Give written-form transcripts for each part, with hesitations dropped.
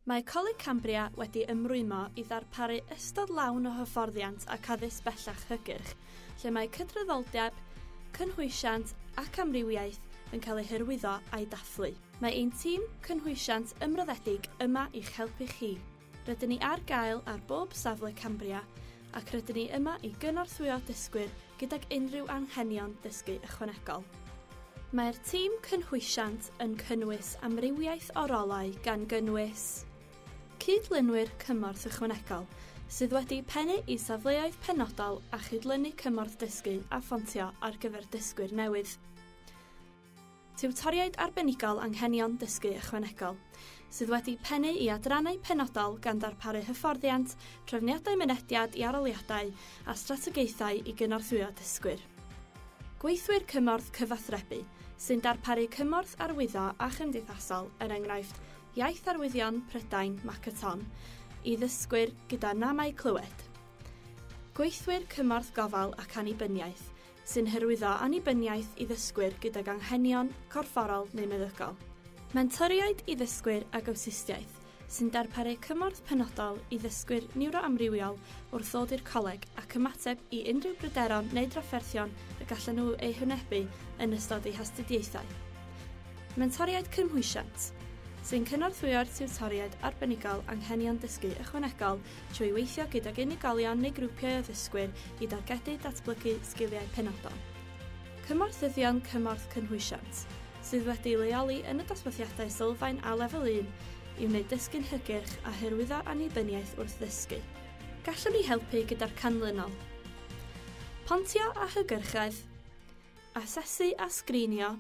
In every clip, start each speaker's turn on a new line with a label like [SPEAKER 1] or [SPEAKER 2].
[SPEAKER 1] Mae Coleg Cambria wedi ymrwymo i ddarparu ystod lawn o hyfforddiant ac addysg bellach hygyrch, lle mae cydraddoldeb, cynhwysiant ac amrywiaeth yn cael eu hyrwyddo a'i dathlu. Mae ein tîm cynhwysiant ymroddedig yma i'ch helpu chi. Rydyn ni ar gael ar bob safle Cambria ac rydyn ni yma i gynorthwyo dysgwyr gydag unrhyw anghenion dysgu ychwanegol. Mae'r tîm cynhwysiant yn cynnwys amrywiaeth o rolau gan gynnwys cydlynwyr cymorth ychwanegol sydd wedi pennu i safleoedd penodol a chydlynu cymorth dysgu a phontio ar gyfer dysgwyr newydd. Tiwtoriaid arbenigol anghenion dysgu ychwanegol sydd wedi pennu i adrannau penodol gan ddarparu hyfforddiant, trefniadau mynediad i arholiadau a strategaethau i gynorthwyo dysgwyr. Gweithwyr cymorth cyfathrebu sy'n darparu cymorth arwyddo a chymdeithasol, er enghraifft Iaith Arwyddion Prydain Makaton, i ddysgwyr gyda namau clywed. Gweithwyr cymorth gofal ac annibyniaeth sy'n hyrwyddo annibyniaeth i ddysgwyr gydag anghenion corfforol neu meddygol. Mentoriaid i ddysgwyr ag awtistiaeth sy'n darparu cymorth penodol i ddysgwyr niwroamrywiol wrth ddod i'r coleg ac ymateb i unrhyw bryderon neu drafferthion y gallan nhw eu hwynebu yn ystod eu hastudiaethau. Mentoriaid cynhwysiant sy'n cynorthwyo'r tiwtoriaid arbenigol anghenion dysgu ychwanegol trwy weithio gydag unigolion neu grwpiau o ddysgwyr i dargedu datblygu sgiliau penodol. Cymorthyddion cymorth cynhwysiant sydd wedi leoli yn y dosbarthiadau sylfaen a lefel 1 i wneud dysgu'n hygyrch a hyrwyddo annibyniaeth wrth ddysgu. Gallwn ni helpu gyda'r canlynol: pontio a hygyrchedd, asesu a sgrinio,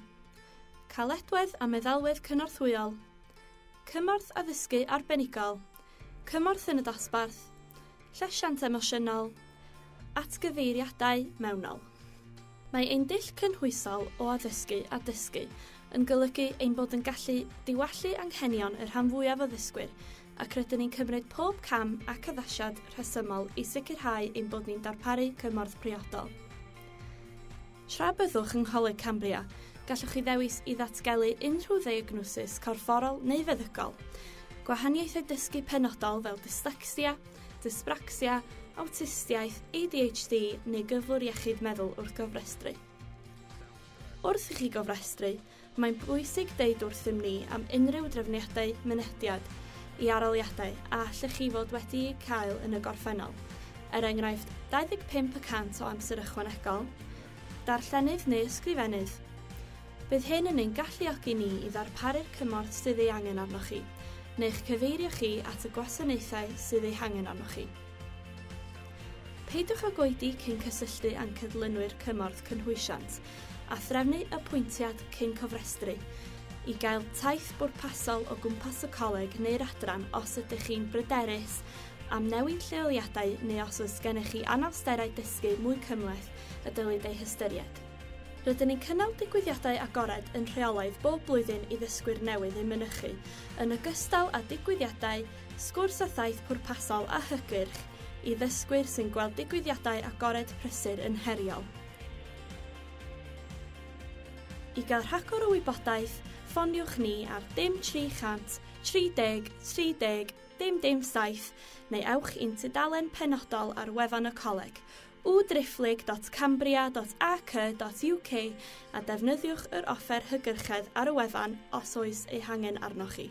[SPEAKER 1] caledwedd a meddalwedd cynorthwyol, cymorth addysgu arbenigol, cymorth yn y dosbarth, llesiant emosiynol, atgyfeiriadau mewnol. Mae ein dull cynhwysol o addysgu a dysgu yn golygu ein bod yn gallu diwallu anghenion y rhan fwyaf o ddysgwyr ac rydyn ni'n cymryd pob cam ac addasiad rhesymol i sicrhau ein bod ni'n darparu cymorth priodol. Tra byddwch yng Ngholeg Cambria, gallwch chi ddewis i ddatgelu unrhyw ddiagnosis corfforol neu feddygol, gwahaniaethau dysgu penodol fel dyslecsia, dyspracsia, awtistiaeth, ADHD neu gyflwr iechyd meddwl wrth gofrestru. Wrth i chi gofrestru, mae'n bwysig deud wrthym ni am unrhyw drefniadau mynediad i arholiadau a allech chi fod wedi'u cael yn y gorffennol, er enghraifft 25% o amser ychwanegol, darllenydd neu ysgrifennydd. Bydd hyn yn ein galluogi ni i ddarparu'r cymorth sydd ei angen arnoch chi, neu'ch cyfeirio chi at y gwasanaethau sydd eu hangen arnoch chi. Peidiwch â oedi cyn cysylltu â'n cydlynwyr cymorth cynhwysiant a threfnu apwyntiad cyn cofrestru i gael taith bwrpasol o gwmpas y coleg neu'r adran os ydych chi'n bryderus am newid lleoliadau neu os oes gennych chi anawsterau dysgu mwy cymhleth y dylid eu hystyried. Rydyn ni'n cynnal digwyddiadau agored yn rheolaidd bob blwyddyn i ddysgwyr newydd eu mynychu, yn ogystal â digwyddiadau, sgwrs a thaith pwrpasol a hygyrch i ddysgwyr sy'n gweld digwyddiadau agored prysur yn heriol. I gael rhagor o wybodaeth, ffoniwch ni ar dim 300 30 30 dim dim 7 neu ewch i'n tudalen penodol ar wefan y coleg www.cambria.ac.uk a defnyddiwch yr offer hygyrchedd ar y wefan os oes eu hangen arnoch chi.